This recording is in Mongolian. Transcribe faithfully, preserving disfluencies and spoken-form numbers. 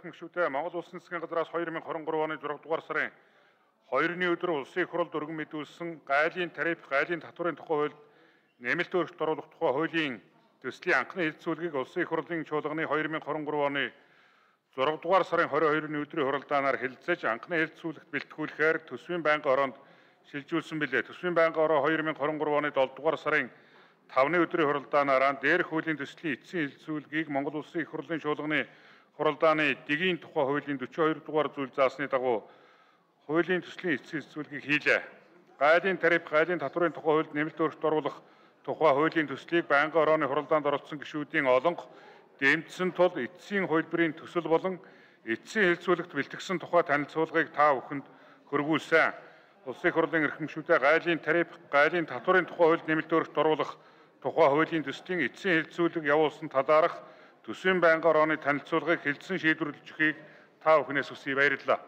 эрхэм гишүүдээ Монгол Улсын засгийн газраас хоёр мянга хорин гурав оны зургаадугаар дугаар сарын хоёрны өдөр улсын их хурлд өргөн мэдүүлсэн гайлын тариф, гайлын татварын тухай хуульд нэмэлт өөрчлөлт оруулах тухай хуулийн төслийн анхны хэлэлцүүлгийг улсын их хурлын чуулганы хоёр мянга хорин гурав оны зургаадугаар дугаар сарын хорин хоёрны өдрийн хуралдаанаар хэлэлцэж анхны хэлэлцүүлэгт бэлтгүүлэхээр төсвийн байнгын ороонд шилжүүлсэн билээ. Төсвийн байнгын ороо хоёр мянга хорин гурав оны долдугаар дугаар сарын тавны өдрийн хуралдаанаараа дээрх хуулийн төслийн эцсийн хэлэлцүүлгийг Монгол Улсын их хурлын чуулганы хуралдааны дэгийн тухай хуулийн дөрвөн хоёр дугаар зүйл заасны дагуу хуулийн төслийн эцсийн хэлэлцүүлгийг хийлээ. Гайлын тариф, гайлын татварын тухай хуульд нэмэлт өөрчлөлт оруулах тухай хуулийн төслийг байнгын орооны хуралдаанд оролцсон гишүүдийн олонх дэмжсэн тул эцсийн хувилбарын төсөл болон эцсийн хэлэлцүүлэгт бэлтгэсэн тухай танилцуулгыг та бүхэнд хөрвүүлсэн. Улсын их хурлын эрхэм гишүүдээ гайлын тариф, гайлын татварын тухай хуульд нэмэлт өөрчлөлт оруулах тухай хуулийн төслийн эцсийн хэлэлцүүлэг явуулсан талаарх төсвийн байнгын орооны танилцуулгыг хэлсэн шийдвэрлэж өгөхийг та бүхнээс хүсье. Баярлалаа.